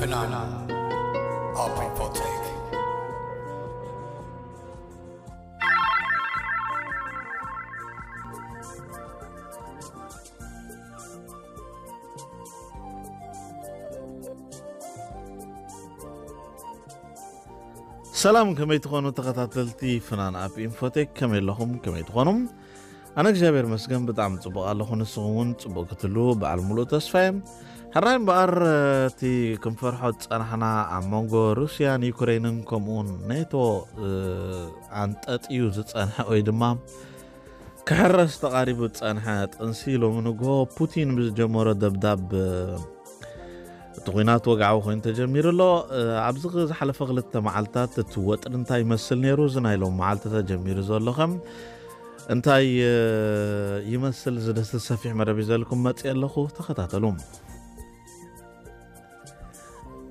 Banana Up Infotech. ሰላም፣ ከመይ ትኾኑ ተኸታተልቲ ፍናን ኣፕ ኢንፎቴክ? ከመይ ኣለኹም? ከመይ ትኾኑ? ኣነ እግዚኣብሔር መስገን ብጣዕሚ ጽቡቕ ኣለኹ። ንስኹም እውን ጽቡቕ ክትህሉ በዓል ሙሉእ ተስፋ እየ። ሕራይ እምበኣር፣ እቲ ክንፈርሖ ዝጸናሕና ኣብ መንጎ ሩስያን ዩክሬንን ከምኡውን ኔቶ፣ እ፣ ኣንጠጥዩ ዝጸንሐ ወይ ድማ ክሕረስ ተቓሪቡ ዝጸንሐ ጥንሲ ሎሚ ንግሆ ፑቲን ብዝጀመሮ ደብዳብ፣ እ፣ እቲ ኲናት ወግዓዊ ኮይኑ ተጀሚሩ ኣሎ። እ፣ ኣብዚ ዝሓለፈ ክልተ መዓልታት እቲ ወጥሪ እንታይ ይመስል ነይሩ? እዚ ናይ ሎም መዓልቲ ተጀሚሩ ዘሎ ኸም እንታይ፣ እ፣ ይመስል? ዝደስስ ሰፊሕ መደብ ይዘልኩም መጽእ ኣለኹ። ተኸታተሉ።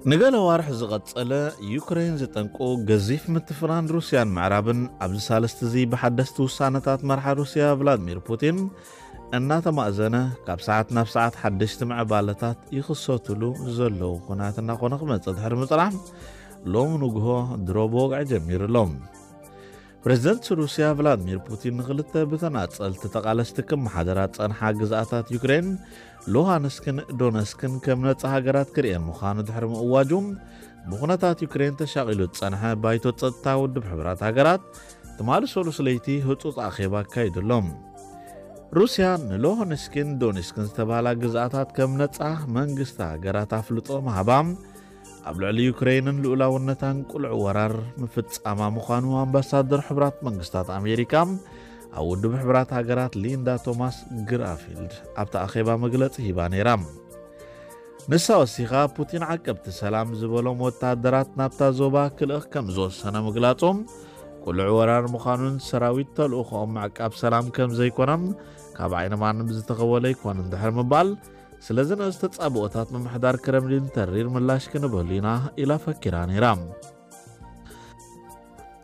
ንገለ ዋርሕ ዝቐጸለ ዩክሬን ዝጠንቁ ገዚፍ ምትፍናን ሩስያን ምዕራብን ኣብዚ ሳልስቲ እዚ ብሓደስቲ ውሳነታት መርሓ ሩስያ ቭላድሚር ፑቲን እናተማእዘነ ካብ ሰዓት ናብ ሰዓት ሓደሽቲ ምዕባለታት ይኽሰቱሉ ዘለዉ ኩናት እናኾነ ክመጽእ ድሕሪ ምጽናሕ ሎም ንግሆ ድሮ ብወግዒ ጀሚሩ ኣሎ። ፕሬዝደንት ሩስያ ቭላድሚር ፑቲን ንኽልተ ብተናጸልቲ ተቓለስቲ ክመሓደራ ጸንሓ ግዝኣታት ዩክሬን ሉሃንስክን ዶነስክን ከም ነጻ ሃገራት ክርእየን ምዃኑ ድሕሪ ምእዋጁ ብኹነታት ዩክሬን ተሻቒሉ ዝጸንሐ ባይቶ ጸጥታ ውድብ ሕብራት ሃገራት ትማሊ ሰሉስ ለይቲ ህጹጽ ኣኼባ ኣካይዱ ኣሎ። ሩስያ ንሉሃንስክን ዶነስክን ዝተባህላ ግዝኣታት ከም ነጻ መንግስቲ ሃገራት ኣፍልጦ ምሃባ ኣብ ልዕሊ ዩክሬንን ልኡላውነታን ቅሉዕ ወራር ምፍጻማ ምዃኑ ኣምባሳደር ሕቡራት መንግስታት ኣሜሪካ ኣብ ውድብ ሕቡራት ሃገራት ሊንዳ ቶማስ ግራፊልድ ኣብቲ ኣኼባ መግለጺ ሂባ ነይራ። ንሳ ወሲኻ ፑቲን ዓቀብቲ ሰላም ዝበሎም ወታደራት ናብታ ዞባ ክልእኽ ከም ዝወሰነ ምግላጹ ቅሉዕ ወራር ምዃኑን ሰራዊት ተልእኾኦም ምዕቃብ ሰላም ከም ዘይኮነን ካብ ዓይኒ ማንም ዝተኸወለ ኣይኮነን ድሕሪ ምባል ስለዚ ንእስ ተጻብኦታት ምምሕዳር ክረምሊን ተሪር ምላሽ ክንበሉ ኢና ኢላ ፈኪራ ነይራ።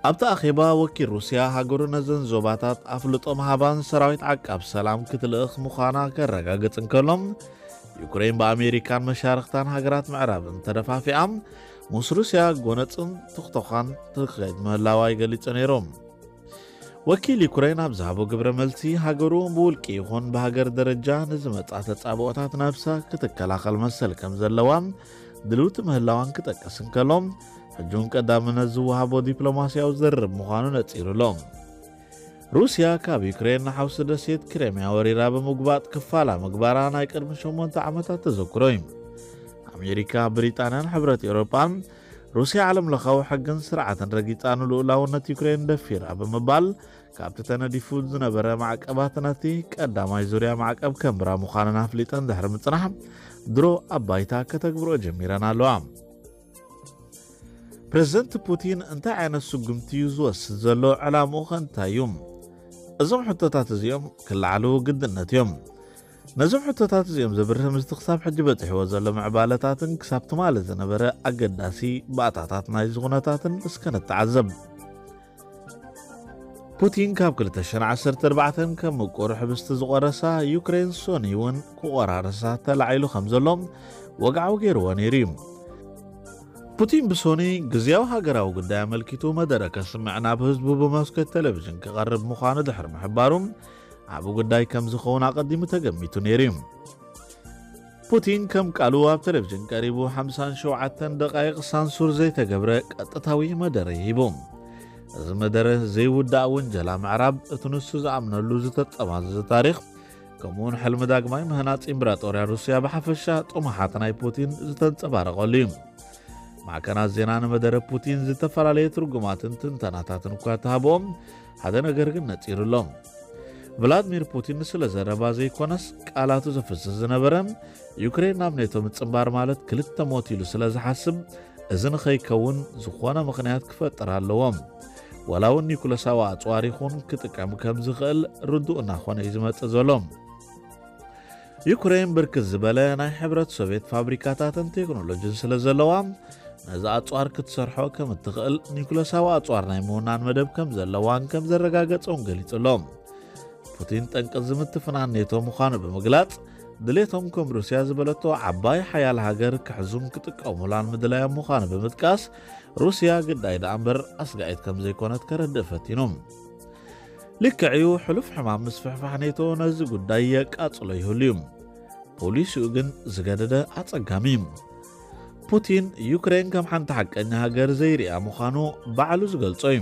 ኣብቲ ኣኼባ ወኪል ሩስያ ሃገሩ ነዘን ዞባታት ኣፍልጦ ምሃባን ሰራዊት ዓቃብ ሰላም ክትልእኽ ምዃና ከረጋግጽ እንከሎ ዩክሬን ብኣሜሪካን መሻርኽታን ሃገራት ምዕራብን ተደፋፊኣ ምስ ሩስያ ጎነጽን ትኽቶኻን ትኸይድ ምህላዋ ይገሊጹ ነይሩ። ወኪል ዩክሬን ኣብ ዝሃቦ ግብረ መልሲ ሃገሩ ብውልቂ ይኹን ብሃገር ደረጃ ንዝመጻ ተጻብኦታት ነብሳ ክትከላኸል መሰል ከም ዘለዋን ድልውቲ ምህላዋን ክጠቅስ እንከሎ ሕጂ እውን ቀዳምነት ዝወሃቦ ዲፕሎማስያዊ ዝርርብ ምዃኑ ነጺሩ ኣሎ። ሩስያ ካብ ዩክሬን ንሓውሲ ደሴት ክሬምያ ወሪራ ብምጉባጥ ክፋላ ምግባራ ናይ ቅድሚ ሸሞንተ ዓመታት ተዘክሮ እዩ። ኣሜሪካ፣ ብሪጣንያን ሕብረት ኤውሮጳን ሩስያ ዓለም ለኻዊ ሕግን ስርዓትን ረጊጻ ንልኡላውነት ዩክሬን ደፊራ ብምባል ካብቲ ተነዲፉ ዝነበረ ማዕቀባት ነቲ ቀዳማይ ዙርያ ማዕቀብ ከንብራ ምዃነን ኣፍሊጠን ድሕሪ ምጽናሕ ድሮ ኣብ ባይታ ከተግብርኦ ጀሚረን ኣለዋ። ፕሬዝደንት ፑቲን እንታይ ዓይነት ስጉምቲ እዩ ዝወስድ ዘሎ? ዕላምኡ ኸ እንታይ እዩ? እዞም ሕቶታት እዚኦም ክለዓሉ ግድነት እዮም። ነዞም ሕቶታት እዚኦም ዘብርህ ምስቲ ክሳብ ሕጂ በጺሕዎ ዘሎ ምዕባለታትን ክሳብ ትማሊ ዝነበረ ኣገዳሲ ባእታታት ናይዚ ኩነታትን እስከ ንተዓዘብ። ፑቲን ካብ ክልተ ሽሕን ዓሰርተ ኣርባዕተን ከም ምቁር ሕብስቲ ዝቆረሳ ዩክሬን ሶኒ እውን ክቆራርሳ ተላዒሉ ከም ዘሎ ወግዓዊ ገይርዎ ነይሩ እዩ። ፑቲን ብሶኒ ግዝያዊ ሃገራዊ ጉዳይ ኣመልኪቱ መደረ ከስምዕ ናብ ህዝቡ ብመስኮት ቴሌቪዥን ክቐርብ ምዃኑ ድሕሪ ምሕባሩ ዓቢ ጉዳይ ከም ዝኸውን ኣቐዲሙ ተገሚቱ ነይሩ እዩ። ፑቲን ከም ቃሉ ኣብ ቴሌቪዥን ቀሪቡ ሓምሳን ሸውዓተን ደቓይቕ ሳንሱር ዘይተገብረ ቀጥታዊ መደረ ሂቡ። እዚ መደረ ዘይውዳእ ውንጀላ ምዕራብ እቲ ንሱ ዝኣምነሉ ዝተጠማዘዘ ታሪኽ ከምኡውን ሕልሚ ዳግማይ ምህናጽ ኢምብራጦርያ ሩስያ ብሓፈሻ ጥሙሓት ናይ ፑቲን ዝተንጸባረቐሉ እዩ። ማዕከናት ዜና ንመደረ ፑቲን ዝተፈላለየ ትርጉማትን ትንተናታትን እኳ ተሃብኦም ሓደ ነገር ግን ነጺሩ ኣሎ። ቭላድሚር ፑቲን ስለ ዘረባ ዘይኮነስ ቃላቱ ዘፍስስ ዝነበረ ዩክሬን ናብ ኔቶ ምጽንባር ማለት ክልተ ሞት ኢሉ ስለ ዝሓስብ እዚ ንኸይከውን ዝኾነ ምኽንያት ክፈጥር ኣለዎም። ዋላ እውን ኒኩለሳዊ ኣጽዋር ይኹን ክጥቀም ከም ዝኽእል ርዱእ እናኾነ እዩ ዝመጽእ ዘሎ። ዩክሬን ብርክት ዝበለ ናይ ሕብረት ሶቪየት ፋብሪካታትን ቴክኖሎጂን ስለ ዘለዋ ነዚ ኣጽዋር ክትሰርሖ ከም እትኽእል ኒኩለሳዊ ኣጽዋር ናይ ምውናን መደብ ከም ዘለዋን ከም ዘረጋገጸውን ገሊጹ ኣሎ። ፑቲን ጠንቂ ዝምትፍናን ኔቶ ምዃኑ ብምግላጽ ድሌቶም ከም ሩስያ ዝበለቶ ዓባይ ሓያል ሃገር ክሕዙን ክጥቀሙላን ምድላዮም ምዃኑ ብምጥቃስ፣ ሩስያ ግዳይ ደኣ እምበር ኣስጋኢት ከም ዘይኮነት ከረድእ ፈቲኑ። ልክዕ እዩ፣ ሕሉፍ ሕማም ምስፍሕፋሕ ኔቶ ነዚ ጉዳይ የቃጽሎ ይህሉ እዩ። ፖሊሲኡ ግን ዝገደደ ኣጸጋሚ እዩ። ፑቲን ዩክሬን ከም ሓንቲ ሓቀኛ ሃገር ዘይርኣ ምዃኑ ባዕሉ ዝገልጾ እዩ።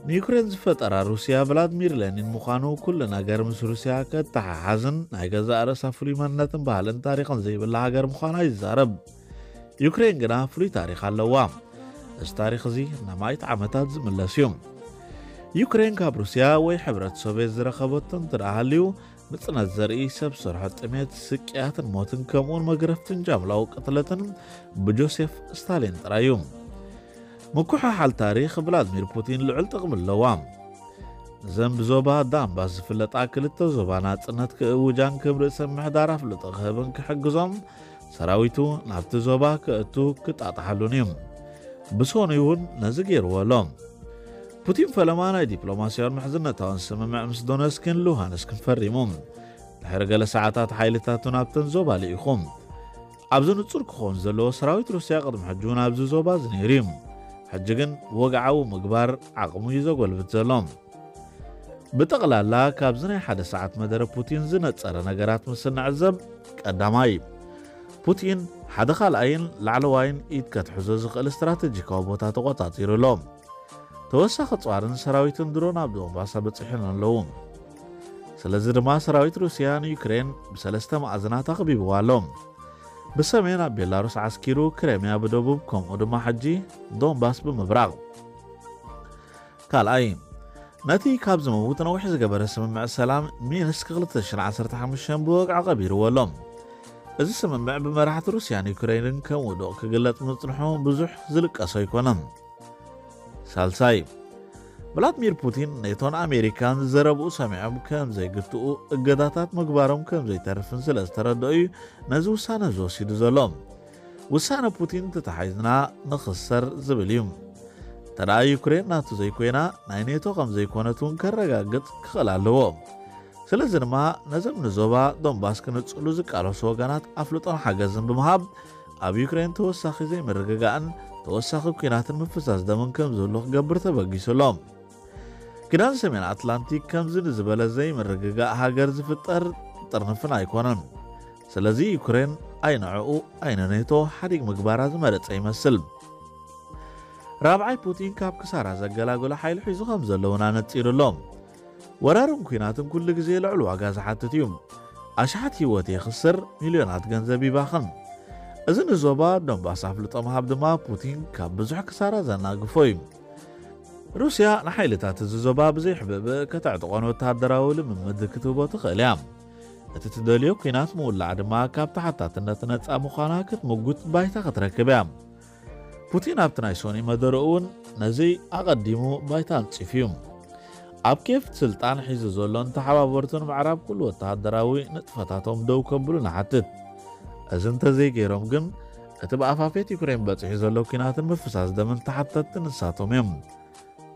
ንዩክሬን ዝፈጠራ ሩስያ ቭላድሚር ሌኒን ምዃኑ፣ ኩሉ ነገር ምስ ሩስያ ከተሓሓዝን ናይ ገዛእ ርእሳ ፍሉይ መንነትን ባህልን ታሪኽን ዘይብላ ሃገር ምዃና ይዛረብ። ዩክሬን ግና ፍሉይ ታሪኽ ኣለዋ። እዚ ታሪኽ እዚ ንኣማኢት ዓመታት ዝምለስ እዩ። ዩክሬን ካብ ሩስያ ወይ ሕብረት ሶቭየት ዝረኸበቶ እንተ ደኣ ሃልዩ፣ ምጽነት ዘርኢ ሰብ ሰርሖ ጥሜት፣ ስቅያትን ሞትን ከምኡውን መግረፍትን ጃምላዊ ቅትለትን ብጆሴፍ ስታሊን ጥራይ እዩ። ምኩሕሓል ታሪኽ ቭላድሚር ፑቲን ልዑል ጥቕሚ ኣለዋ። እዘን ብዞባ ዳንባስ ዝፍለጣ ክልተ ዞባ ናጽነት ክእውጃን ከም ርእሰ ምሕዳር ኣፍልጦ ክህብን ክሕግዞም ሰራዊቱ ናብቲ ዞባ ክእቱ ክጣጣሓሉን እዩ። ብሶኑይ እውን ነዚ ገይርዎ ኣሎ። ፑቲን ፈለማ ናይ ዲፕሎማስያውን ምሕዝነታውን ስምምዕ ምስ ዶነስክን ሉሃንስክን ፈሪሙ። ድሕሪ ገለ ሰዓታት ሓይልታቱ ናብተን ዞባ ልኢኹ። ኣብዚ ንጹር ክኸውን ዘለዎ ሰራዊት ሩስያ ቅድሚ ሕጂ እውን ኣብዚ ዞባ እዚ ነይሩ እዩ። ሕጂ ግን ወግዓዊ ምግባር ዓቕሙ እዩ ዘጎልብት ዘሎ። ብጠቕላላ ካብዚ ናይ ሓደ ሰዓት መደረ ፑቲን ዝነጸረ ነገራት ምስ እንዕዘብ፣ ቀዳማይ፣ ፑቲን ሓደ ካልኣይን ላዕለዋይን ኢድ ከትሕዞ ዝኽእል ስትራተጂካዊ ቦታ ተቖጻጺሩ ኣሎ። ተወሳኺ ጸዋርን ሰራዊትን ድሮ ናብ ዶንባስ በጺሖም ኣለዉ። ስለዚ ድማ ሰራዊት ሩስያ ንዩክሬን ብሰለስተ ማዕዝናት ኣኽቢብዋ ኣሎ። ብሰሜን ኣብ ቤላሩስ ዓስኪሩ፣ ክሬምያ ብደቡብ ከምኡ ድማ ሕጂ ዶንባስ ብምብራቕ። ካልኣይ፣ ነቲ ካብ ዝመውት ነዊሕ ዝገበረ ስምምዕ ሰላም ሚንስክ ክልተ ሽሕን ዓሰርተ ሓሙሽተን ብወግዒ ኣቐቢርዎ ኣሎ። እዚ ስምምዕ ብመራሕቲ ሩስያን ዩክሬንን ከም ውዱቕ ክግለጽ ምጽንሑ ብዙሕ ዝልቀሶ ኣይኮነን። ሳልሳይ፣ ቭላድሚር ፑቲን ኔቶን ኣሜሪካን ዘረብኡ ሰሚዖም ከም ዘይግትኡ፣ እገዳታት ምግባሮም ከም ዘይተርፍን ስለ ዝተረድኦ እዩ ነዚ ውሳነ እዚ ወሲዱ ዘሎ። ውሳነ ፑቲን ተታሒዝና ንኽሰር ዝብል እዩ። እንተ ደኣ ዩክሬን ናቱ ዘይኮይና፣ ናይ ኔቶ ከም ዘይኮነት እውን ከረጋግጽ ክኽእል ኣለዎ። ስለዚ ድማ ነዞም ንዞባ ዶንባስ ክነጽሉ ዝቃለሱ ወገናት ኣፍልጦን ሓገዝን ብምሃብ፣ ኣብ ዩክሬን ተወሳኺ ዘይምርግጋእን ተወሳኺ ኲናትን ምፍሳስ ደምን ከም ዝህሉ ክገብር ተበጊሱ ኣሎ። ኪዳን ሰሜን ኣትላንቲክ ከምዚ ንዝበለ ዘይምርግጋእ ሃገር ዝፍጠር ጥርንፍን ኣይኮነን። ስለዚ ዩክሬን ኣይ ንዕኡ ኣይ ንኔቶ ሓዲግ ምግባራ ዝመረጸ ይመስል። ራብዓይ፣ ፑቲን ካብ ክሳራ ዘገላግሎ ሓይሊ ሒዙ ከም ዘለውን ኣነጺሩ ኣሎ። ወራርን ኲናትን ኩሉ ግዜ ልዑል ዋጋ ዝሓትት እዩ። ኣሽሓት ህይወት የኽስር፣ ሚልዮናት ገንዘብ ይባኽን። እዚ ንዞባ ዶንባስ ኣፍልጦ ምሃብ ድማ ፑቲን ካብ ብዙሕ ክሳራ ዘናግፎ እዩ። ሩስያ ንሓይልታት እዚ ዞባ ብዘይሕብእብእ ከተዕጥቖን ወተሃደራዊ ልምምድ ክትህቦ ትኽእል እያ። እቲ ትደልዮ ኲናት ምውላዕ ድማ ካብ ተሓታትነት ነጻ ምዃና ክትምጉት ባይታ ክትረክብ እያ። ፑቲን ኣብቲ ናይ ሶኒ መደረኡ እውን ነዚ ኣቐዲሙ ባይታ ኣንጺፉ እዩ። ኣብ ኬፍ ስልጣን ሒዙ ዘሎን ተሓባበርቱን ምዕራብ ኩሉ ወተሃደራዊ ንጥፈታቶም ደው ከብሉ ንሓትት። እዚ እንተዘይገይሮም ግን እቲ ብኣፋፌት ዩክሬን በጺሑ ዘሎ ኲናትን ምፍሳስ ደምን ተሓተትቲ ንሳቶም እዮም።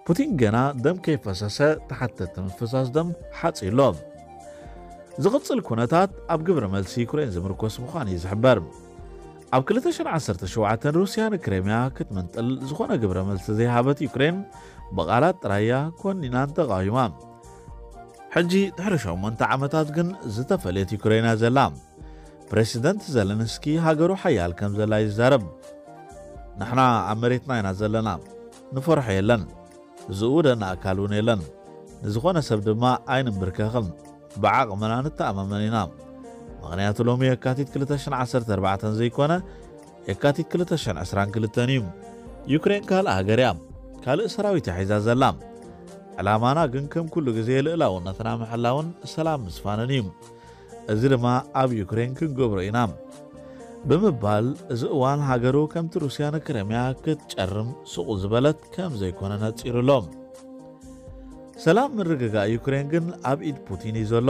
ፑቲን ገና ደም ከይፈሰሰ ተሓተትቲ ምፍሳስ ደም ሓጺ ኣሎ። ዝቕጽል ኩነታት ኣብ ግብረ መልሲ ዩክሬን ዝምርኮስ ምዃኑ እዩ ዝሕበር። ኣብ ክልተ ሽሕን ዓሰርተ ሸውዓተን ሩስያ ንክሬምያ ክትምንጥል ዝኾነ ግብረ መልሲ ዘይሃበት ዩክሬን ብቓላት ጥራይ እያ ኮኒናን ተቓዊማ። ሕጂ ድሕሪ ሸሞንተ ዓመታት ግን ዝተፈለየት ዩክሬን እያ ዘላ። ፕሬዚደንት ዘለንስኪ ሃገሩ ሓያል ከም ዘላ ይዛረብ። ንሕና ኣብ መሬትና ኢና ዘለና፣ ንፈርሖ የለን። ዝእውደና ኣካል እውን የለን። ንዝኾነ ሰብ ድማ ኣይንንብርከኽን። ብዓቕምና ንተኣማመን ኢና። ምኽንያቱ ሎሚ የካቲት ክልተ ሽሕን ዓሰርተ ኣርባዕተን ዘይኮነ፣ የካቲት ክልተ ሽሕን ዕስራን ክልተን እዩ። ዩክሬን ካልእ ሃገር እያ። ካልእ ሰራዊት እያ ሒዛ ዘላ። ዕላማና ግን ከም ኩሉ ግዜ ልእላውነትና ምሕላውን ሰላም ምስፋንን እዩ። እዚ ድማ ኣብ ዩክሬን ክንገብሮ ኢና ብምባል፣ እዚ እዋን ሃገሩ ከምቲ ሩስያ ንክረምያ ክትጨርም ስቑ ዝበለት ከም ዘይኮነ ነጺሩ ኣሎ። ሰላም ምርግጋእ ዩክሬን ግን ኣብ ኢድ ፑቲን እዩ ዘሎ።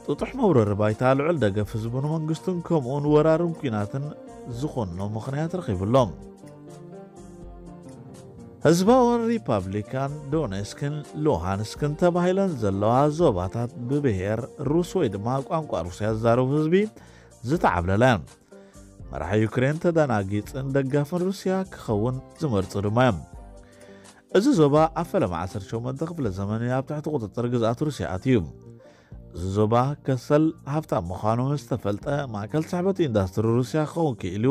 ጥጡሕ መውረሪ ባይታ ልዑል ደገፍ ህዝቡን መንግስቱን ከምኡውን ወራርን ኲናትን ዝኾኖ ምኽንያት ረኺቡ ኣሎ። ህዝባውን ሪፓብሊካን ዶኔስክን ሉሃንስክን ተባሂለን ዘለዋ ዞባታት ብብሔር ሩስ ወይ ድማ ቋንቋ ሩስያ ዝዛረቡ ህዝቢ ዝተዓብለለ መራሒ ዩክሬን ተደናጊጽን ደጋፍን ሩስያ ክኸውን ዝመርጹ ድማ እዮም። እዚ ዞባ ኣብ ፈለማ ዓሰርተ ሸሞንተ ክፍለ ዘመን ኣብ ትሕቲ ቁጽጽር ግዝኣት ሩስያ ኣትዩ። እዚ ዞባ ከሰል ሃብታም ምዃኑ ምስ ተፈልጠ ማእከል ስሕበት ኢንዳስትሪ ሩስያ ክኸውን ክኢሉ፣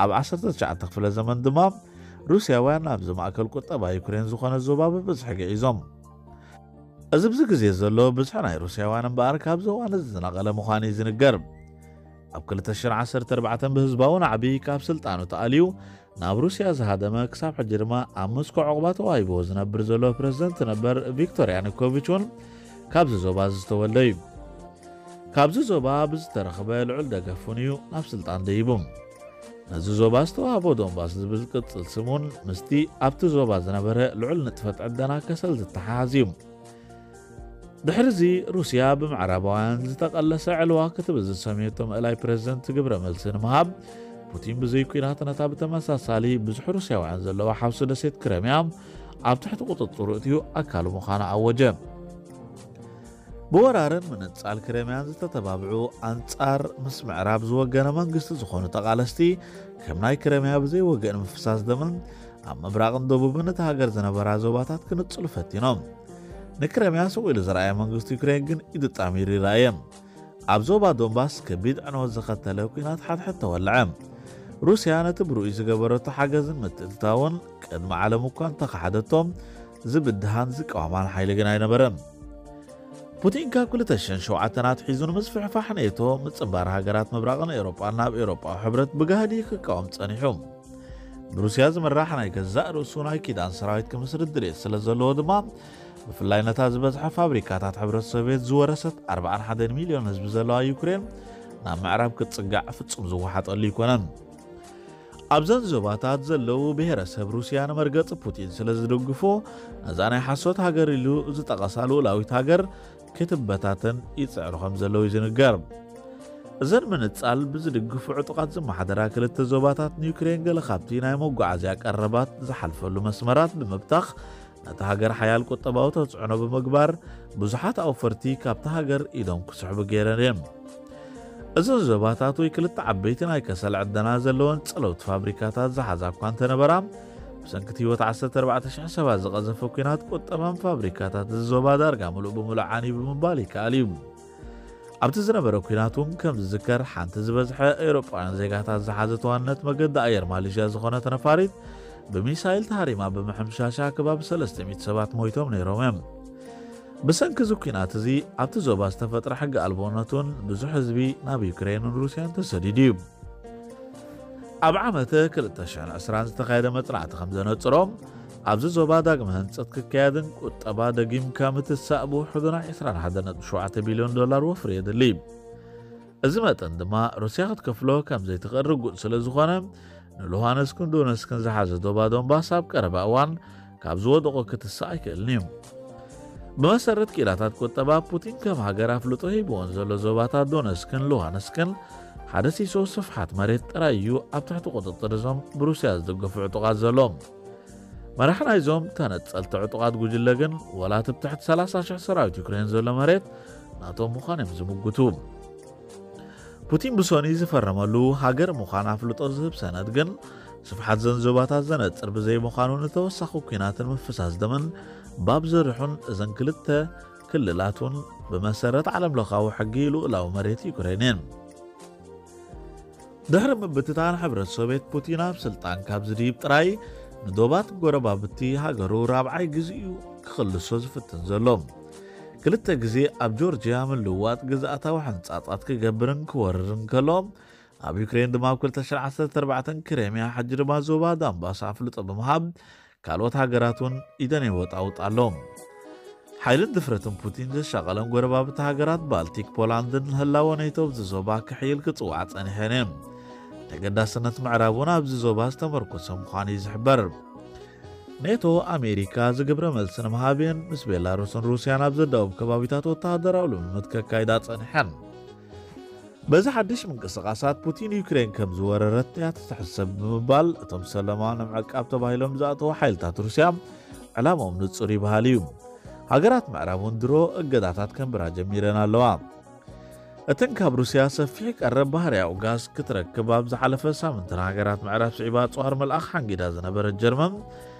ኣብ ዓሰርተ ትሽዓተ ክፍለ ዘመን ድማ ሩስያውያን ናብዚ ማእከል ቁጠባ ዩክሬን ዝኾነ ዞባ ብብዝሒ ገዒዞም። እዚ ብዚ ግዜ ዘሎ ብዝሒ ናይ ሩስያውያን እምበኣር ካብዚ እዋን እዚ ዝነቐለ ምዃኑ እዩ ዝንገር። ኣብ ክልተ ሽሕን ዓሰርተ ኣርባዕተን ብህዝባዊ ናዕቢ ካብ ስልጣኑ ተኣልዩ ናብ ሩስያ ዝሃደመ፣ ክሳብ ሕጂ ድማ ኣብ ሞስኮ ዕቑባ ተዋሂብዎ ዝነብር ዘሎ ፕረዚደንት ነበር ቪክቶር ያኑኮቪች እውን ካብዚ ዞባ ዝተወልደ እዩ። ካብዚ ዞባ ብዝተረኽበ ልዑል ደገፍ እውን እዩ ናብ ስልጣን ደይቡ። ነዚ ዞባ ዝተዋህቦ ዶንባስ ዝብል ቅጽል ስም እውን ምስቲ ኣብቲ ዞባ ዝነበረ ልዑል ንጥፈት ዕደና ከሰል ዝተሓሓዝ እዩ። ድሕሪ እዚ ሩስያ ብምዕራባውያን ዝተቐለሰ ዕልዋ ክትብል ዝሰምየቶ ምእላይ ፕረዚደንት ግብረ መልሲ ንምሃብ፣ ፑቲን ብዘይ ኲናት ነታ ብተመሳሳሊ ብዙሕ ሩስያውያን ዘለዋ ሓውሲ ደሴት ክረምያ ኣብ ትሕቲ ቁጽጽሩ እትዩ ኣካሉ ምዃኑ ኣወጀ። ብወራርን ምንጻል ክረምያን ዝተተባብዑ ኣንጻር ምስ ምዕራብ ዝወገነ መንግስቲ ዝኾኑ ተቓለስቲ፣ ከም ናይ ክረምያ ብዘይ ወገን ምፍሳስ ደምን ኣብ ምብራቕን ደቡብን እቲ ሃገር ዝነበራ ዞባታት ክንጽሉ ፈቲኖም። ንክረምያ ስቕ ኢሉ ዝረኣየ መንግስቲ ዩክሬን ግን ኢዱ ጣሚሩ ይረኣየ። ኣብ ዞባ ዶንባስ ከቢድ ዕንወት ዘኸተለ ኲናት ሓድሕድ ተወልዐ። ሩስያ ነቲ ብርኡይ ዝገበረቶ ሓገዝን ምትእትታውን ቅድሚ ዓለም እኳ እንተኸሓደቶም፣ ዝብድሃን ዝቃወማን ሓይሊ ግን ኣይነበረን። ፑቲን ካብ ክልተ ሽሕን ሸውዓተን ኣትሒዙ ንምስፍሕፋሕ ኔቶ፣ ምጽንባር ሃገራት ምብራቕን ኤውሮጳን ናብ ኤውሮጳዊ ሕብረት ብጋህዲ ክቃወም ጸኒሑ። ብሩስያ ዝምራሕ ናይ ገዛእ ርእሱ ናይ ኪዳን ሰራዊት ክምስርት ድሌት ስለ ዘለዎ ድማ፣ ብፍላይ ነታ ዝበዝሐ ፋብሪካታት ሕብረት ሶቪየት ዝወረሰት ኣርባዓን ሓደን ሚልዮን ህዝቢ ዘለዋ ዩክሬን ናብ ምዕራብ ክትጽጋዕ ፍጹም ዝወሓጠሉ ኣይኮነን። ኣብዘን ዞባታት ዘለዉ ብሄረሰብ ሩስያ ንመርገጺ ፑቲን ስለ ዝድግፉ፣ ነዛ ናይ ሓሶት ሃገር ኢሉ ዝጠቐሳ ልኡላዊት ሃገር ክትበታተን ይጽዕሩ ከም ዘለዉ እዩ ዝንገር። እዘን ምንጻል ብዝድግፉ ዕጡቓት ዝመሓደራ ክልተ ዞባታት ንዩክሬን ገለ ካብቲ ናይ መጓዓዝያ ቀረባት ዝሓልፈሉ መስመራት ብምብታኽ፣ ነታ ሃገር ሓያል ቁጠባዊ ተጽዕኖ ብምግባር፣ ብዙሓት ኣውፈርቲ ካብታ ሃገር ኢዶም ክስሕቡ ገይረን እየን። እዘን ዞባታት ወይ ክልተ ዓበይቲ ናይ ከሰል ዕደና ዘለወን ጸለውቲ ፋብሪካታት ዝሓዛ እኳ እንተነበራ፣ ብሰንኪ እቲ ህይወት ዓሰርተ ኣርባዕተ ሽሕ ሰባት ዝቐዘፈ ኲናት፣ ቁጠባን ፋብሪካታት እዚ ዞባ ዳርጋ ምሉእ ብምሉእ ዓንዩ ብምባል ይከኣል እዩ። ኣብቲ ዝነበረ ኲናት እውን ከም ዝዝከር፣ ሓንቲ ዝበዝሐ ኤውሮጳውያን ዜጋታት ዝሓዘት ዋንነት መገዲ ኣየር ማሌዥያ ዝኾነት ነፋሪት ብሚሳይል ተሃሪማ ብምሕምሻሻ ከባቢ ሰለስተ ሚእቲ ሰባት ሞይቶም ነይሮም እዮም። ብሰንኪ እዚ ኲናት እዚ ኣብቲ ዞባ ዝተፈጥረ ሕጊ ኣልቦነት እውን ብዙሕ ህዝቢ ናብ ዩክሬንን ሩስያን ተሰዲዱ እዩ። ኣብ ዓመት ክልተ ሽሕን ዕስራን ዝተኻየደ መጽናዕቲ ከም ዘነጽሮ፣ ኣብዚ ዞባ ዳግመ ህንጸት ክካየድን ቁጠባ ደጊምካ ምትሳእ ብውሕዱ ናይ ዕስራን ሓደን ነጥቢ ሸውዓተ ቢልዮን ዶላር ወፍሪ የድሊ። እዚ መጠን ድማ ሩስያ ክትከፍሎ ከም ዘይትኽእል ርጉጽ ስለ ዝኾነ፣ ንሉሃንስክን ዶነስክን ዝሓዘ ዶባ ዶንባስ ኣብ ቀረባ እዋን ካብ ዝወደቖ ክትስእ ኣይክእልን እዩ። ብመሰረት ክኢላታት ቁጠባ፣ ፑቲን ከም ሃገር ኣፍልጦ ሂብዎን ዘሎ ዞባታት ዶነስክን ሉሃንስክን ሓደ ሲሶ ስፍሓት መሬት ጥራይ እዩ ኣብ ትሕቲ ቁጽጽር እዞም ብሩስያ ዝድገፉ ዕጡቓት ዘሎ። መራሒ ናይዞም ተነጸልቲ ዕጡቓት ጉጅለ ግን፣ ወላ እቲ ብትሕቲ ሰላሳ ሽሕ ሰራዊት ዩክሬን ዘሎ መሬት ናቶም ምዃን እዮም ዝምጉቱ። ፑቲን ብሶኒ ዝፈረመሉ ሃገር ምዃን ኣፍልጦ ዝህብ ሰነድ ግን፣ ስፍሓት ዘን ዞባታት ዘነጽር ብዘይምዃኑ፣ ንተወሳኺ ኲናትን ምፍሳስ ደምን ባብ ዘርሑን፣ እዘን ክልተ ክልላት እውን ብመሰረት ዓለምለኻዊ ሕጊ ልኡላዊ መሬት ዩክሬን እየን። ድሕሪ ምብትታን ሕብረት ሶቪየት፣ ፑቲን ኣብ ስልጣን ካብ ዝድይብ ጥራይ፣ ንዶባት ጎረባብቲ ሃገሩ ራብዓይ ግዜኡ ክኽልሶ ዝፍትን ዘሎ። ክልተ ግዜ ኣብ ጆርጅያ ምልውዋጥ ግዝኣታዊ ሕንጻጻት ክገብርን ክወርርን ከሎ፣ ኣብ ዩክሬን ድማ ኣብ ክልተ ሽሕን ዓሰርተ ኣርባዕተን ክሬምያ፣ ሕጂ ድማ ዞባ ዳንባስ ኣፍልጦ ብምሃብ፣ ካልኦት ሃገራት እውን ኢደን የወጣውጣ ኣሎ። ሓይልን ድፍረትን ፑቲን ዘሻቐለን ጎረባብቲ ሃገራት ባልቲክ፣ ፖላንድን ህላወ ኔቶ ኣብዚ ዞባ ክሕይል ክጽዋዕ ጸኒሐን እየን። ተገዳስነት ምዕራብ እውን ኣብዚ ዞባ ዝተመርኮሰ ምዃኑ እዩ ዝሕበር። ኔቶ ኣሜሪካ ዝግብረ መልሲ ንምሃብ እየን ምስ ቤላሩስን ሩስያን ኣብ ዘዳውብ ከባቢታት ወተሃደራዊ ልምምድ ከካይዳ ጸኒሐን። በዚ ሓድሽ ምንቅስቓሳት ፑቲን ዩክሬን ከም ዝወረረት እያ ትሕሰብ ብምባል፣ እቶም ሰለማ ንምዕቃብ ተባሂሎም ዝኣተዉ ሓይልታት ሩስያ ዕላምኦም ንጹር ይበሃል እዩ። ሃገራት ምዕራብ እውን ድሮ እገዳታት ከንብራ ጀሚረን ኣለዋ። እተን ካብ ሩስያ ሰፊሕ ቀረብ ባህርያዊ ጋዝ ክትረክብ ኣብ ዝሓለፈ ሳምንት ንሃገራት ምዕራብ ስዒባ ኣጽዋር ምልኣኽ ሓንጊዳ ዝነበረት ጀርመን፣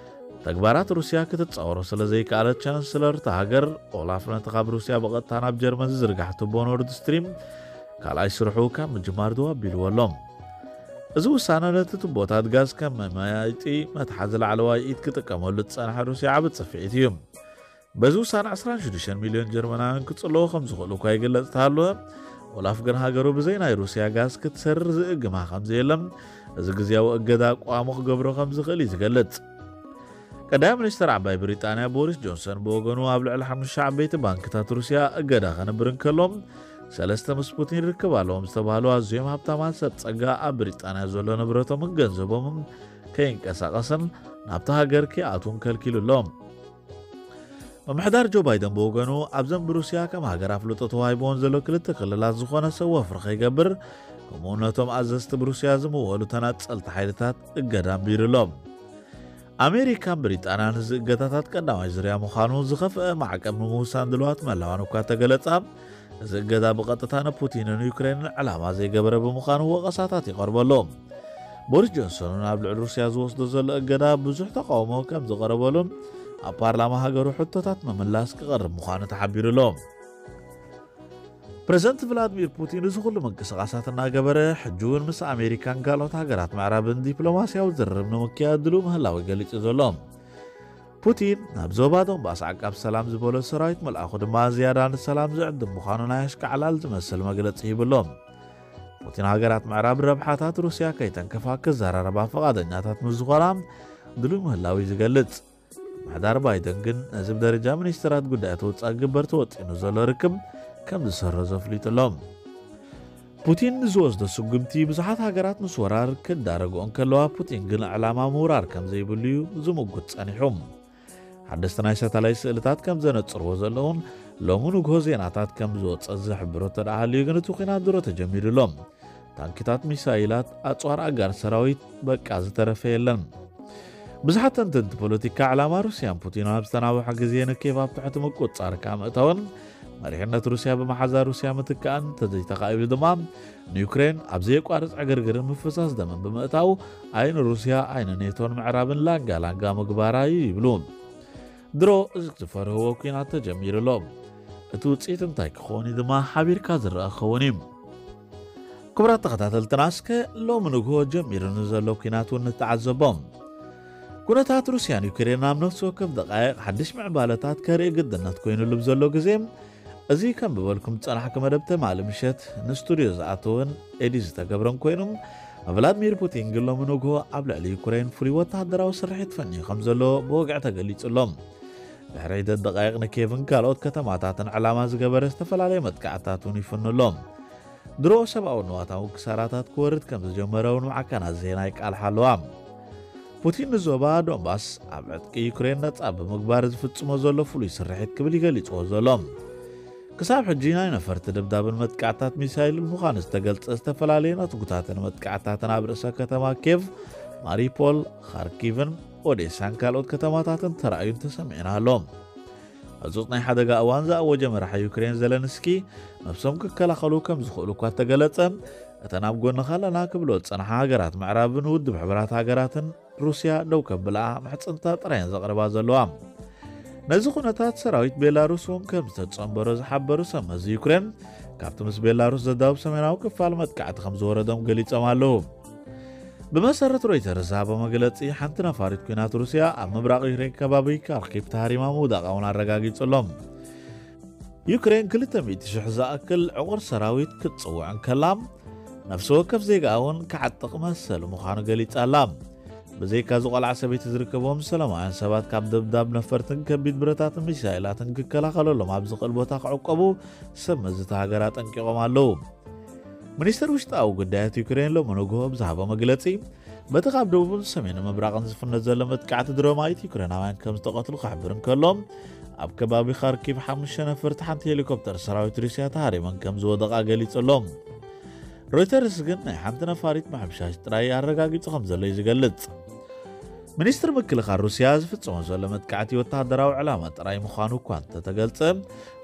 ተግባራት ሩስያ ክትጻወሮ ስለ ዘይከኣለት፣ ቻንስለር እታ ሃገር ኦላፍ ነቲ ካብ ሩስያ ብቐጥታ ናብ ጀርመን ዝዝርጋሕ ቱቦ ኖርድ ስትሪም ካልኣይ ስርሑ ካብ ምጅማር ደው ኣቢልዎ ኣሎ። እዚ ውሳነ ነቲ ቱቦታት ጋዝ ከም መመያየጢ መትሓዚ ላዕለዋይ ኢድ ክጥቀመሉ ዝጸንሐ ሩስያ ዓቢ ጽፍዒት እዩ። በዚ ውሳነ ዕስራን ሽዱሽተን ሚልዮን ጀርመናውያን ክጽለዉ ከም ዝኽእሉ እኳ ይግለጽ እንተሃለወ፣ ኦላፍ ግን ሃገሩ ብዘይ ናይ ሩስያ ጋዝ ክትሰርር ዝእግማ ከም ዘየለን፣ እዚ ግዝያዊ እገዳ ቋሙ ክገብሮ ከም ዝኽእል እዩ ዝገልጽ። ቀዳማይ ሚኒስተር ዓባይ ብሪጣንያ ቦሪስ ጆንሰን ብወገኑ፣ ኣብ ልዕሊ ሓሙሽተ ዓበይቲ ባንክታት ሩስያ እገዳ ከንብር እንከሎ፣ ሰለስተ ምስ ፑቲን ርክብ ኣለዎም ዝተባህሉ ኣዝዮም ሃብታማት ሰብ ጸጋ ኣብ ብሪጣንያ ዘሎ ንብረቶምን ገንዘቦምን ከይንቀሳቐስን ናብታ ሃገር ከይኣትውን ከልኪሉ ኣሎ። ምምሕዳር ጆ ባይደን ብወገኑ፣ ኣብዘን ብሩስያ ከም ሃገር ኣፍልጦ ተዋሂብዎን ዘሎ ክልተ ክልላት ዝኾነ ሰብ ወፍሪ ከይገብር፣ ከምኡ ነቶም ኣዘዝቲ ብሩስያ ዝምወሉ ተናጸልቲ ሓይልታት እገዳ ኣንቢሩ ኣሎ። ኣሜሪካን ብሪጣንያን እዚ እገዳታት ቀዳማይ ዙርያ ምዃኑ ዝኸፍአ ማዕቀብ ንምውሳን ድልዋት ምህላዋን እኳ ተገለጻ፣ እዚ እገዳ ብቐጥታ ንፑቲንን ዩክሬንን ዕላማ ዘይገበረ ብምዃኑ ወቐሳታት ይቐርበሉ። ቦሪስ ጆንሰን እውን ኣብ ልዕሊ ሩስያ ዝወስዶ ዘሎ እገዳ ብዙሕ ተቃውሞ ከም ዝቐረበሉን ኣብ ፓርላማ ሃገሩ ሕቶታት ምምላስ ክቐርብ ምዃኑ ተሓቢሩ ኣሎ። ፕረዚደንት ቭላድሚር ፑቲን እዚ ኩሉ ምንቅስቓሳት እናገበረ፣ ሕጂ እውን ምስ ኣሜሪካን ካልኦት ሃገራት ምዕራብን ዲፕሎማስያዊ ዝርርብ ንምክያድ ድሉው ምህላው ገሊጹ ዘሎ ፑቲን፣ ናብ ዞባ ዶንባስ ዓቃብ ሰላም ዝበሎ ሰራዊት ምልኣኹ ድማ ዝያዳ ንሰላም ዝዕድም ምዃኑ ናይ ኣሽካዕላል ዝመስል መግለጺ ሂቡ ኣሎ። ፑቲን፣ ሃገራት ምዕራብ ረብሓታት ሩስያ ከይተንከፋ ክዘራረባ ፍቓደኛታት ምስ ዝኾና ድሉው ምህላው እዩ ዝገልጽ። ምሕዳር ባይደን ግን ነዚ ብደረጃ ሚኒስትራት ጉዳያት ወጻኢ ክግበር ተወጢኑ ዘሎ ርክብ ከም ዝሰረዞ ኣፍሊጡ ኣሎ። ፑቲን ንዝወስዶ ስጉምቲ ብዙሓት ሃገራት ምስ ወራር ክዳረግኦ እንከለዋ፣ ፑቲን ግን ዕላማ ምውራር ከም ዘይብሉ እዩ ዝምጉት ጸኒሑ። ሓደስቲ ናይ ሳተላይት ስእልታት ከም ዘነጽርዎ ዘለውን ሎሚ ንግሆ ዜናታት ከም ዝወጸ ዝሕብሮ እንተ ደኣ ሃልዩ ግን፣ እቲ ኲናት ድሮ ተጀሚሩ ኣሎ። ታንክታት፣ ሚሳይላት፣ ኣጽዋር ኣጋር ሰራዊት፣ በቃ ዝተረፈ የለን። ብዙሓት ተንተንቲ ፖለቲካ፣ ዕላማ ሩስያን ፑቲን ኣብ ዝተናውሐ ግዜ ንኬቭ ኣብ ትሕቲ ምቁጽጻር ካብ ምእታውን መሪሕነት ሩስያ ብመሓዛ ሩስያ ምትካእን እንተዘይተኻኢሉ ድማ፣ ንዩክሬን ኣብ ዘየቋርጽ ዕግርግርን ምፍሳስ ደምን ብምእታው፣ ኣይ ንሩስያ ኣይ ንኔቶን ምዕራብን ላንጋ ላንጋ ምግባራ እዩ ይብሉ። ድሮ እዚ ዝፈርህዎ ኲናት ተጀሚሩ ኣሎ። እቲ ውጽኢት እንታይ ክኸውን እዩ ድማ ሓቢርካ ዝረኣ ክኸውን እዩ። ክቡራት ተኸታተልትና፣ እስከ ሎሚ ንግሆ ጀሚሩ ንዘሎ ኲናት እውን ንተዓዘቦ። ኩነታት ሩስያን ዩክሬን ኣብ ነፍሲ ወከፍ ደቃይቕ ሓድሽ ምዕባለታት ከርኢ ግድነት ኮይኑሉ ብዘሎ ግዜ፣ እዚ ከም ዝበልኩም ዝጸናሕኩ መደብ ትማሊ ምሸት ንስቱድዮ ዝኣተወን ኤዲት ዝተገብረን ኮይኑ፣ ቭላድሚር ፑቲን ግን ሎሚ ንግሆ ኣብ ልዕሊ ዩክሬን ፍሉይ ወተሃደራዊ ስርሒት ፈንዩ ከም ዘሎ ብወግዒ ተገሊጹ ኣሎ። ድሕሪ ሒደት ደቃይቕ ንኬቭን ካልኦት ከተማታትን ዕላማ ዝገበረ ዝተፈላለየ መጥቃዕትታት እውን ይፍኑ ኣሎ። ድሮ ሰብኣዊ ንዋታዊ ክሳራታት ክወርድ ከም ዝጀመረ እውን ማዕከናት ዜና ይቃልሓ ኣለዋ። ፑቲን ንዞባ ዶንባስ ኣብ ዕጥቂ ዩክሬን ነጻ ብምግባር ዝፍጽሞ ዘሎ ፍሉይ ስርሒት ክብል ይገሊጽዎ ዘሎ። ክሳብ ሕጂ ናይ ነፈርቲ ደብዳብን መጥቃዕታት ሚሳይልን ምዃኑ ዝተገልጸ ዝተፈላለየ ነትጉታትን መጥቃዕታትን ኣብ ርእሰ ከተማ ኬቭ፣ ማሪፖል፣ ኻርኪቭን ኦዴሳን ካልኦት ከተማታትን ተራእዩን ተሰሚዑን ኣሎ። ህጹጽ ናይ ሓደጋ እዋን ዝኣወጀ መራሒ ዩክሬን ዘለንስኪ፣ ነብሶም ክከላኸሉ ከም ዝኽእሉ እኳ እንተገለጸ፣ እተን ኣብ ጎንኻ ኣለና ክብሎ ዝጸንሓ ሃገራት ምዕራብን ውድብ ሕቡራት ሃገራትን ሩስያ ደው ከብልኣ ምሕጽንታ ጥራየን ዘቕርባ ዘለዋ። ነዚ ኩነታት ሰራዊት ቤላሩስ እውን ከም ዝተጸንበሮ ዝሓበሩ ሰብ መዚ ዩክሬን፣ ካብቲ ምስ ቤላሩስ ዘዳውብ ሰሜናዊ ክፋል መጥቃዕቲ ከም ዝወረዶም ገሊጾም ኣለዉ። ብመሰረት ሮይተርስ ዝሃቦ መግለጺ፣ ሓንቲ ነፋሪት ኲናት ሩስያ ኣብ ምብራቕ ዩክሬን ከባቢ ካርኪቭ ተሃሪማ ምውዳቓ እውን ኣረጋጊጹ ኣሎ። ዩክሬን ክልተ ሚእቲ ሽሕ ዝኣክል ዕቑር ሰራዊት ክትጽውዕ እንከላ፣ ነፍሲ ወከፍ ዜጋኣ እውን ክዓጥቕ መሰሉ ምዃኑ ገሊጻ ኣላ። ብዘይካ እዚ ቆልዓ ሰበይቲ ዝርከቦም ሰላማውያን ሰባት ካብ ደብዳብ ነፈርትን ከቢድ ብረታትን ሚሳይላትን ክከላኸለሎም ኣብ ዝኽእል ቦታ ክዕቆቡ ሰብ መዚ እታ ሃገር ኣጠንቂቖም ኣለዉ። ሚኒስትር ውሽጣዊ ጉዳያት ዩክሬን ሎሚ ንግሆ ብዝሃቦ መግለጺ፣ በቲ ካብ ደቡብን ሰሜን ምብራቕን ዝፍነ ዘሎ መጥቃዕቲ ድሮማይት ዩክሬናውያን ከም ዝተቐትሉ ክሕብር እንከሎ፣ ኣብ ከባቢ ካርኪቭ ሓሙሽተ ነፈርቲ ሓንቲ ሄሊኮፕተር ሰራዊት ሩስያ ተሃሪመን ከም ዝወደቓ ገሊጹ ኣሎ። ሮይተርስ ግን ናይ ሓንቲ ነፋሪት ምሕምሻሽ ጥራይ ኣረጋጊጹ ከም ዘሎ እዩ ዝገልጽ። ሚኒስትር ምክልኻል ሩስያ ዝፍጽሞ ዘሎ መጥቃዕቲ ወተሃደራዊ ዕላማ ጥራይ ምዃኑ እኳ እንተተገልጸ፣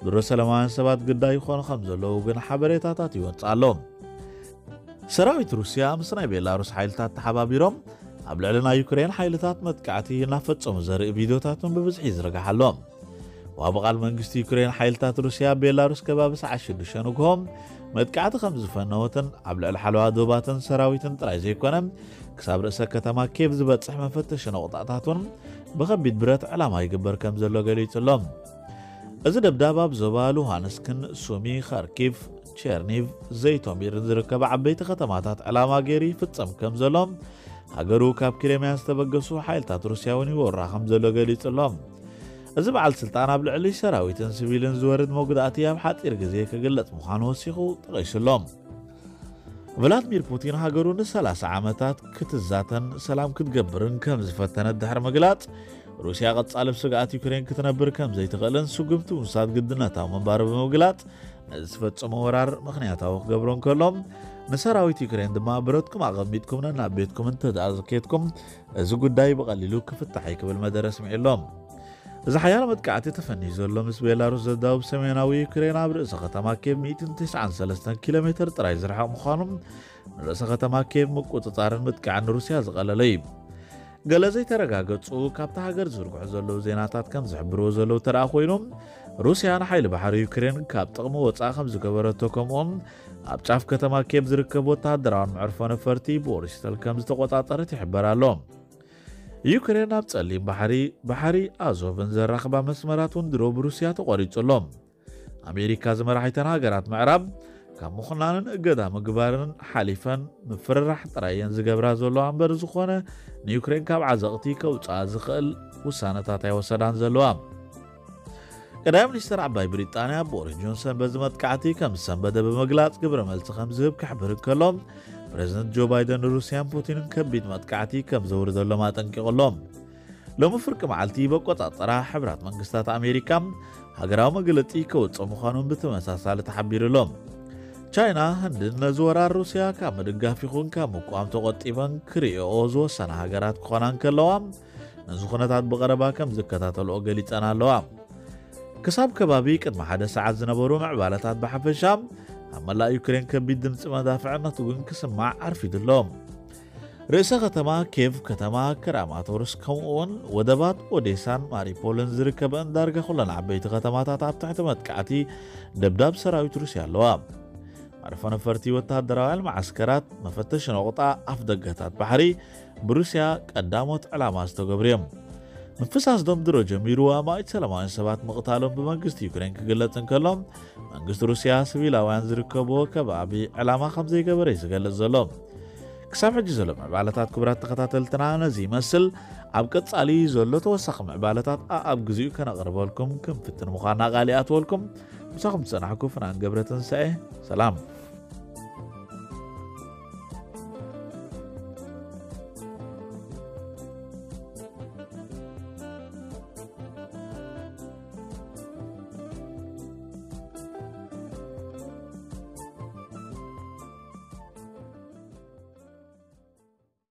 ድሮ ሰላማውያን ሰባት ግዳይ ይኾኑ ከም ዘለዉ ግን ሓበሬታታት ይወጽእ ኣሎ። ሰራዊት ሩስያ ምስ ናይ ቤላሩስ ሓይልታት ተሓባቢሮም ኣብ ልዕሊ ናይ ዩክሬን ሓይልታት መጥቃዕቲ እናፈጸሙ ዘርኢ ቪድዮታትን ብብዝሒ ይዝርጋሕ ኣሎ። ወሃቢ ቃል መንግስቲ ዩክሬን፣ ሓይልታት ሩስያ ኣብ ቤላሩስ ከባቢ ሰዓት ሽዱሽተ ንግሆ መጥቃዕቲ ከም ዝፈነወትን ኣብ ልዕሊ ሓለዋ ዶባትን ሰራዊትን ጥራይ ዘይኮነ ክሳብ ርእሰ ከተማ ኬቭ ዝበጽሕ መፈተሺ ነቑጣታት እውን ብኸቢድ ብረት ዕላማ ይግበር ከም ዘሎ ገሊጹ ኣሎ። እዚ ደብዳብ ኣብ ዞባ ሉሃንስክን ሱሚ፣ ካርኪቭ፣ ቸርኒቭ፣ ዘይቶሚርን ዝርከባ ዓበይቲ ከተማታት ዕላማ ገይሩ ይፍጸም ከም ዘሎ፣ ሃገሩ ካብ ክሬምያ ዝተበገሱ ሓይልታት ሩስያ እውን ይወራ ከም ዘሎ ገሊጹ ኣሎ። እዚ በዓል ስልጣን ኣብ ልዕሊ ሰራዊትን ሲቪልን ዝወርድ መጉዳእቲ ኣብ ሓጺር ግዜ ክግለጽ ምዃኑ ወሲኹ ጠቒሱ ኣሎ። ቭላድሚር ፑቲን ሃገሩ ንሰላሳ ዓመታት ክትዛተን ሰላም ክትገብርን ከም ዝፈተነት ድሕሪ ምግላጽ፣ ሩስያ ቀጻሊ ብስግኣት ዩክሬን ክትነብር ከም ዘይትኽእልን ስጉምቲ ምውሳድ ግድነታዊ ምንባሩ ብምግላጽ፣ ነዚ ዝፈጸሞ ወራር ምኽንያታዊ ክገብሮ እንከሎ፣ ንሰራዊት ዩክሬን ድማ ብረትኩም ኣቐሚጥኩም ነናብ ቤትኩም እንተደኣ ዘኬድኩም እዚ ጉዳይ ብቐሊሉ ክፍታሕ እዩ ክብል መደረ ኣስሚዑ ኣሎ። እዚ ሓያሎ መጥቃዕቲ ተፈንዩ ዘሎ ምስ ቤላሩስ ዘዳውብ ሰሜናዊ ዩክሬን ኣብ ርእሰ ከተማ ኬቭ ሚእትን ተስዓን ሰለስተን ኪሎ ሜትር ጥራይ ዝርሕቕ ምዃኑ፣ ንርእሰ ከተማ ኬቭ ምቁጽጻርን ምጥቃዕን ንሩስያ ዝቐለለ እዩ። ገለ ዘይተረጋገጹ ካብታ ሃገር ዝዝርግሑ ዘለዉ ዜናታት ከም ዝሕብርዎ ዘለዉ ተደኣ ኮይኑ፣ ሩስያ ንሓይሊ ባሕሪ ዩክሬን ካብ ጥቕሚ ወጻኢ ከም ዝገበረቶ፣ ከምኡውን ኣብ ጫፍ ከተማ ኬቭ ዝርከብ ወተሃደራውን መዕርፎ ነፈርቲ ቦሪስተል ከም ዝተቆጻጸረት ይሕበር ኣሎ። ዩክሬን ኣብ ጸሊም ባሕሪ፣ ባሕሪ ኣዞቭን ዘራኽባ መስመራት እውን ድሮ ብሩስያ ተቖሪጹ ኣሎ። ኣሜሪካ ዝመራሒተን ሃገራት ምዕራብ ካብ ምኹናንን እገዳ ምግባርን ሓሊፈን ምፍርራሕ ጥራይ እየን ዝገብራ ዘለዋ እምበር፣ ዝኾነ ንዩክሬን ካብ ዓዘቕቲ ከውፅኣ ዝኽእል ውሳነታት ኣይወሰዳን ዘለዋ። ቀዳማይ ሚኒስትር ዓባይ ብሪጣንያ ቦሪስ ጆንሰን በዚ መጥቃዕቲ ከም ዝሰንበደ ብምግላጽ፣ ግብረ መልሲ ከም ዝህብ ክሕብር እንከሎ፣ ፕሬዚደንት ጆ ባይደን ንሩስያን ፑቲንን ከቢድ መጥቃዕቲ ከም ዘውርደሎም ኣጠንቂቑ ኣሎ። ሎሚ ፍርቂ መዓልቲ ብኣቆጻጽራ ሕብራት መንግስታት ኣሜሪካ ሃገራዊ መግለጺ ከውጽእ ምዃኑን ብተመሳሳሊ ተሓቢሩ ኣሎ። ቻይና፣ ህንድን ነዚ ወራር ሩስያ ካብ ምድጋፍ ይኹን ካብ ምቋም ተቖጢበን ክርእዮኦ ዝወሰና ሃገራት ክኾና እንከለዋ፣ ነዚ ኩነታት ብቐረባ ከም ዝከታተልኦ ገሊጸን ኣለዋ። ክሳብ ከባቢ ቅድሚ ሓደ ሰዓት ዝነበሩ ምዕባለታት ብሓፈሻ ኣብ መላእ ዩክሬን ከቢድ ድምጺ መዳፍዕነት እውን ክስማዕ ኣርፊዱ ኣሎ። ርእሰ ከተማ ኬቭ፣ ከተማ ክራማቶርስክ፣ ከምኡውን ወደባት ኦዴሳን ማሪፖልን ዝርከበን ዳርጋ ኩለን ዓበይቲ ከተማታት ኣብ ትሕቲ መጥቃዕቲ ደብዳብ ሰራዊት ሩስያ ኣለዋ። መዕርፎ ነፈርቲ፣ ወተሃደራውያን መዓስከራት፣ መፈተሺ ነቑጣ፣ ኣፍ ደገታት ባሕሪ ብሩስያ ቀዳሞት ዕላማ ዝተገብሩ እዮም። ምፍሳስ ደም ድሮ ጀሚሩ ኣማኢት ሰላማውያን ሰባት ምቕታሎም ብመንግስቲ ዩክሬን ክግለጽ እንከሎ፣ መንግስቲ ሩስያ ሲቪላውያን ዝርከብዎ ከባቢ ዕላማ ከም ዘይገበረ እዩ ዝገልጽ ዘሎ። ክሳብ ሕጂ ዘሎ ምዕባለታት፣ ክቡራት ተኸታተልትና፣ ነዚ ይመስል። ኣብ ቀጻሊ ዘሎ ተወሳኺ ምዕባለታት ኣኣብ ግዜኡ ከነቕርበልኩም ክንፍትን ምዃንና ቃል ይኣትወልኩም። ምሳኹም ዝጸናሕኩ ፍናን ገብረ ትንሳኤ። ሰላም።